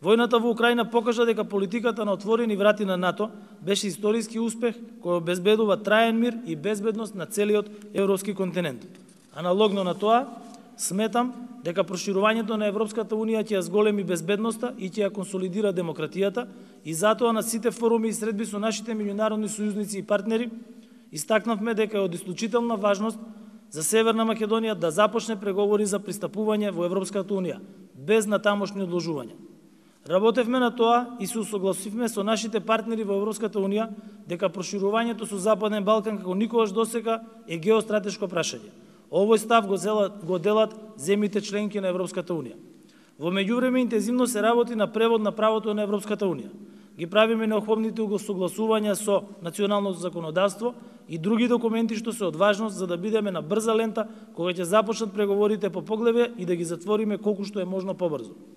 Војната во Украина покажа дека политиката на отворени врати на НАТО беше историски успех кој обезбедува траен мир и безбедност на целиот европски континент. Аналогно на тоа, сметам дека проширувањето на Европската Унија ќе ја зголеми безбедноста и ќе ја консолидира демократијата и затоа на сите форуми и средби со нашите меѓународни сојузници и партнери истакнавме дека е од исклучителна важност за Северна Македонија да започне преговори за пристапување во Европската Унија, без натамошни одложувања. Работевме на тоа и се усогласивме со нашите партнери во Европската Унија дека проширувањето со Западен Балкан како никогаш досега е геостратешко прашање. Овој став го делат земјите членки на Европската Унија. Во меѓувреме интензивно се работи на превод на правото на Европската Унија. Ги правиме необходните согласувања со националното законодавство и други документи што се од важност за да бидеме на брза лента кога ќе започнат преговорите по поглавје и да ги затвориме колку што е можно побрзо.